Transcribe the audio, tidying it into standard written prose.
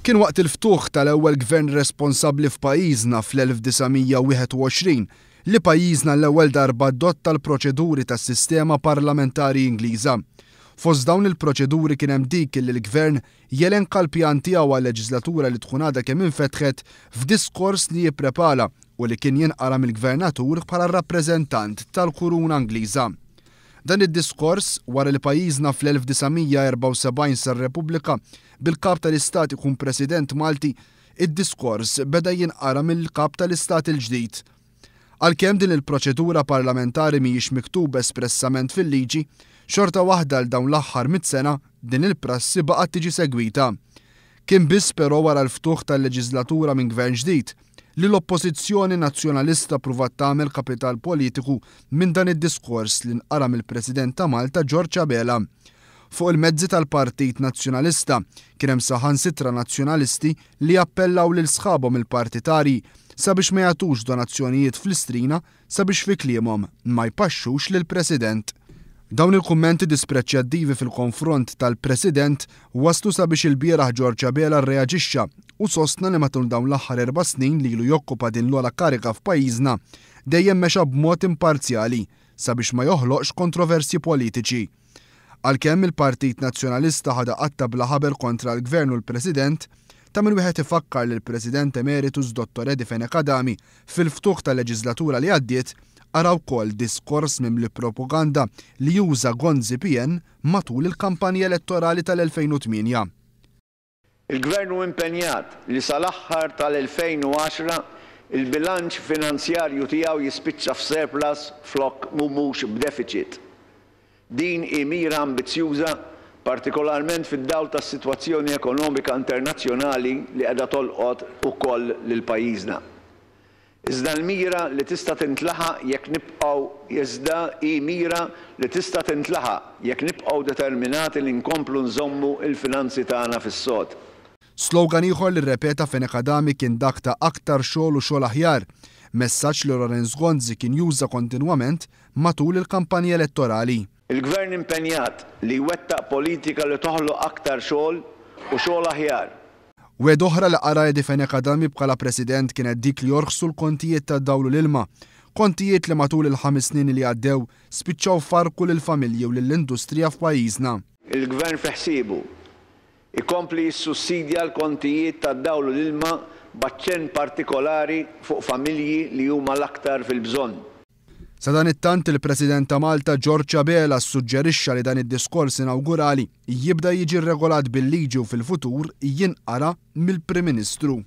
Kien waqt il-ftuħ tal-ewwel gvern responsabbli f'pajjiżna fl-1921 li pajjiżna l-ewwel darba adotta l-proċeduri tas-sistema parlamentari Ingliża. Fost dawn il-proċeduri kien hemm dik li l-gvern jelenka l-pjan tiegħu għal-leġislatura li tkun għadha kemm infetħet f'diskors li jipprepara u li kien jinqara mill-gvernatur bħala r-rappreżentant tal-Kuruna Ingliża. Dan id-diskors, wara li pajjiżna fl-1974 sar Repubblika, bil-Kap tal-Istat ikun President Malti, id-diskors beda jinqara mill-Kap tal-Istat il-ġdid. Għalkemm din il-proċedura parlamentari mhijiex miktuba espressament fil-liġi, xorta waħda għal dawn l-aħħar mitt sena din il-prassi baqgħet tiġi segwita. Kien biss però wara l-ftuħ tal-leġiżlatura minn Gvern ġdid, li l-Oppożizzjoni Nazzjonalista ppruvat tagħmel kapital politiku minn dan id-diskors li nqara mill-President ta' Malta George Abela. Fuq il-mezzi tal-Partit Nazzjonalista kien hemm saħansitra Nazzjonalisti li appellaw lil sħabhom il-partitarji sabiex ma jagħtux donazzjonijiet fl-Istrina sabiex fi kliemhom ma jpaxxux lill-President. Dawn il-kummenti dispreċjattivi fil-konfront tal-President waslu sabiex ilbieraħ George Abela rreaġixxa u sostna li matul dawn l-aħħar erba' snin li ilu jokkupa din l-ogħla kariga f'pajjiżna dejjem mexa b'mod imparzjali sabiex ma joħloqx kontroversji politiċi. Għalkemm il-Partit Nazzjonalista ħadha qatta' bla ħabel kontra l-Gvern u l-President, ta' min wieħed ifakkar li l-President Emeritus Dottor Eddie Fenech Adami fil-ftuħ tal-leġiżlatura li għaddiet qara wkoll diskors mimli propaganda li uża Gonzi PN matul il-kampanja elettorali tal-2008. Il-Gvern hu impenjat li sal-aħħar tal-2010 il-bilanċ finanzjarju tiegħu jispiċċa f'surplus flok mhux b'defiċit. Din hi mira ambizzjuża, partikolarment fid-dawl tas-sitwazzjoni ekonomika internazzjonali li qiegħda tolqot ukoll lil pajjiżna. Iżda l-mira li tista' tintlaħaq jekk nibqgħu iżda hi mira li tista' tintlaħaq jekk nibqgħu determinati li nkomplu nżommu l-finanzi tagħna fis-sod. Slogan ieħor li rrepeta Fenech Adami kien dak ta' aktar xogħol u xogħol aħjar, messaġġ li Lawrence Gonzi kien juża kontinwament matul il-kampanja elettorali. Il-Gvern impenjat li jwettaq politika li toħloq aktar xogħol u xogħol aħjar. Wegħda oħra li qara Eddie Fenech Adami bħala President kienet dik li jorħsu l-kontijiet tad-dawl u l-ilma. Kontijiet li matul il-ħames snin li għaddew spiċċaw farrku lill-familji u lill-industrija f'pajjiżna. Il-Gvern fi ħsiebu jkompli jissussidja l-kontijiet tad-dawl u l-ilma b'aċċenn partikolari fuq familji li huma l-aktar fil-bżonn. Sadanittant, il-President ta' Malta George Abela ssuġġerixxa li dan id-diskors inawgurali jibda jiġi rregolat bil-liġi u fil-futur jinqara mill-Prim Ministru.